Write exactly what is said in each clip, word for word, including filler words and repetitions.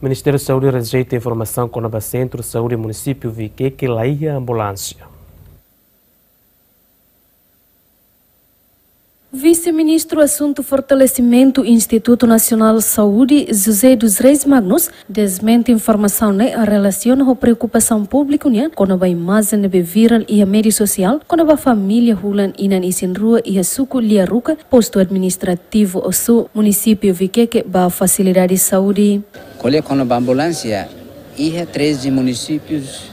Ministériu Saúde rejeita informasaun kona-ba Sentru Saúde Munisípiu Viqueque la iha ambulánsia. Vise-Ministru Asuntu Fortalesimentu Institutu Nasionál Saúde, José dos Reis Magnus, desmente informasaun ne'e relasiona ho preokupasaun públiku nian kona-ba imajen ne'ebé virál iha média sosiál kona-ba família hulan inan isin rua iha suku Liaruca, postu administrativu Osu, munisípiu Viqueque, ba fasilidade saúde. Ko'alia kona-ba ambulánsia, iha treze munisípius,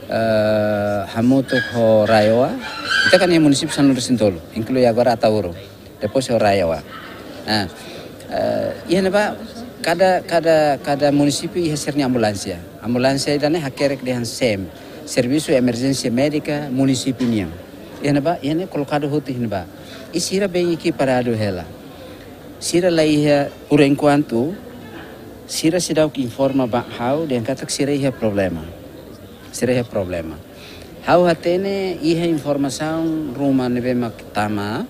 eh, hamutuk ho RAEOA. Ita kan iha munisípiu sanulu-resin-tolu, inklui agora Ataúro. Depois ho RAEOA. Ah, eh, iha ne'ebá kada, kada, kada munisípiu iha sira-nia ambulánsia. Ambulánsia ida-ne'e hakerek dehan SEM, Servisu Emerjénsia Médika Munisípiu nian. Iha ne'ebá, iha ne'e kolokadu hotu iha ne'ebá. I sira bem ekipadadu hela. Sira la iha, por enquanto, sira seidauk informa ba ha'u dehan katak sira iha problema. Sira iha problema. Ha'u hatene iha informasaun ruma ne'ebé mak tama,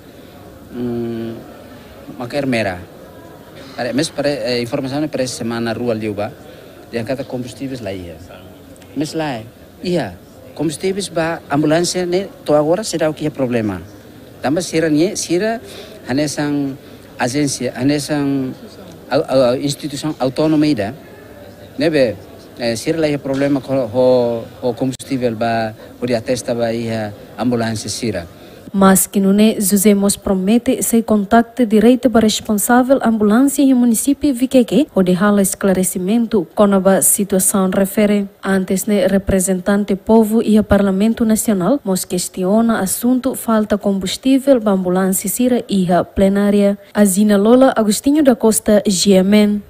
mm, mak ermera. Are, mes pare, eh, informasaun ne'e parese semana rua liubá, dehan katak kombustíveis la iha. Mes lae, iha. Kombustíveis ba ambulánsia ne'e to'o agora seidauk iha problema. Tanba sira-nia, sira hanesan ajénsia, hanesan au-, au-, au-, instituisaun autónoma ida. Ne'ebé, eh, sira la iha problema ho, ho, ho kombustível ba, hodi atesta ba iha ambulánsia sira. Maski nune'e, José mós promete sei kontaktu direta ba responsavel ambulánsia iha munisípiu Viqueque, hodi halo esklaresimentu kona-ba situasaun refere. Antes ne'e, reprezentante povu iha Parlamentu Nasionál mós kestiona asuntu falta kombustível ba ambulánsia sira iha plenária. Azina Lola, Agostinho da Costa, G M N.